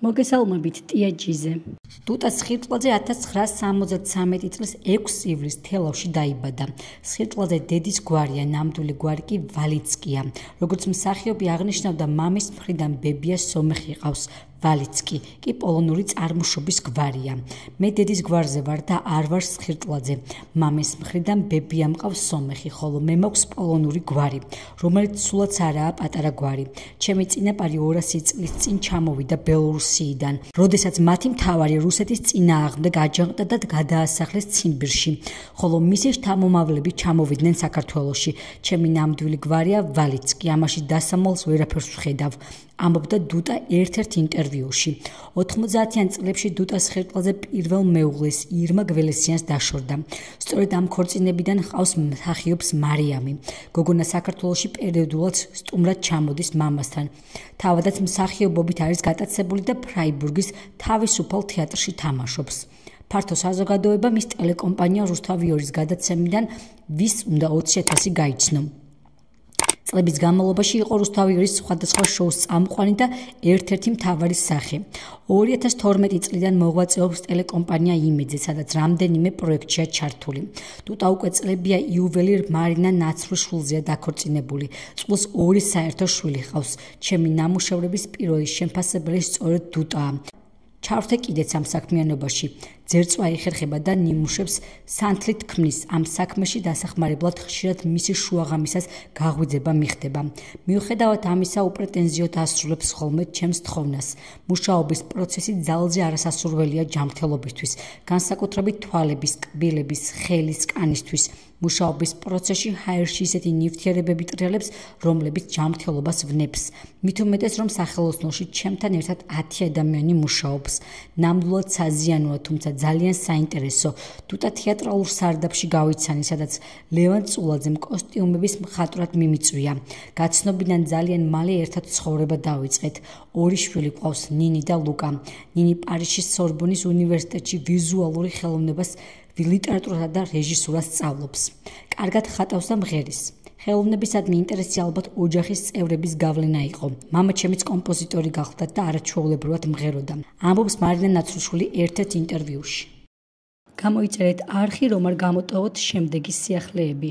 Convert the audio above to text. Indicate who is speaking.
Speaker 1: მოგესალმებით ტია ჯიზე. დუტა სხირტლაძე 1973 წლის 6 ივლისს თელავში დაიბადა. სხირტლაძე დედის გვარია, ნამდვილი გვარი კი ვალიცკია. როგორც მსახიობი აღნიშნავდა, მამის მხრიდან ბებია სომეხი ყავს. ვალიცკი კი პოლონური წარმოშობის გვარია. მე დედის გვარზე ვარ და არ ვარ სხირტლაძე. მამის მხრიდან ბებია მყავს სომეხი, ხოლო მე მაქვს პოლონური გვარი, რომელიც სულაც არაა პატარა გვარი. ჩემი წინაპარი 200 წლის წინ ჩამოვიდა ბელორუსიიდან, როდესაც მათი მთავარი რუსეთის წინააღმდეგ აჯანყდა და გადაასახლეს ციმბირში, ხოლო მისი შთამომავლები ჩამოვიდნენ საქართველოში. ჩემი ნამდვილი გვარია ვალიცკი, ამაში დასამალს ვერაფერს ვხედავ. ამბობდა დუტა ერთ-ერთ ინტერვიუში. 90-იან წლებში დუტა სხირტლაძე პირველ მეუღლეს ირმა გველესიანს დაშორდა. სწორედ ამ ქორწინებიდან ჰყავს მსახიობს მარიამი. გოგონა საქართველოში პერიოდულად სტუმრად ჩამოდის მამასთან. თავადაც მსახიობობით არის გატაცებული და ფრაიბურგის თავისუფალ თეატრში თამაშობს. ფართო საზოგადოება მის ტელეკომპანია რუსთავიორის გადაცემიდან ვის უნდა 20.000 გაიცნო. წლების განმავლობაში იყო რუსთავიორის სხვადასხვა შოუს წამყვანი და ერთ-ერთი მთავარი სახე. 2012 წლიდან მოღვაწეობს ტელეკომპანია იმედზე, სადაც რამდენიმე პროექტშია ჩართული. დუტა უკვე წლებია იუველირ მარინა ნაცრუშვილზეა დაქორწინებული. წყვილს 2 საერთო შვილი ჰყავს. ჩემი ნამუშევრების პირველი შემფასებელი სწორედ დუტაა. ჩავრთე კიდეც ამ საქმიანობაში. ძერწვა იხერხება და ნიმუშებს სანთლით ქმნის. ამ საქმეში დასახმარებლად ხშირად მისი შუაღამისას გაღვიძება მიხდება. მიუხედავად ამისა, უპრეტენზიოდ ასრულებს ხოლმე ჩემს თხოვნას. მუშაობის პროცესი ძალზე არასასურველია ჯანმრთელობისთვის, განსაკუთრებით თვალების, კბილების, ხელის, კანისთვის. მუშაობის პროცესში ჰაერში ისეთი ნივთიერებები ტრიალებს, რომლებიც ჯანმრთელობას ვნებს. მით უმეტეს, რომ სახელოსნოში ჩემთან ერთად 10 ადამიანი მუშაობს. ნამდვილად საზიანოა, თუმცა ძალიან საინტერესო. დუტა თეატრალურ სარდაფში გავიცანი, სადაც ლევან წულაძემ კოსტიუმების მხატვრად მიმიწვია. გაცნობიდან ძალიან მალე ერთად ცხოვრება დავიწყეთ. 2 შვილი ყავს, ნინი და ლუკა. ნინი პარიზის სორბონის უნივერსიტეტში ვიზუალური ხელოვნებას, ლიტერატურასა და რეჟისურას სწავლობს. კარგად ხატავს და მღერის. ხელოვნებისადმი ინტერესი ალბათ ოჯახის წევრების გავლენა იყო. მამა ჩემიც კომპოზიტორი გახლდა და არაჩვეულებრივად მღეროდა. ამბობს მარინა ნაცრუშვილი ერთ-ერთ ინტერვიუში. გამოიწერეთ არხი, რომ არ გამოტოვოთ შემდეგი სიახლეები.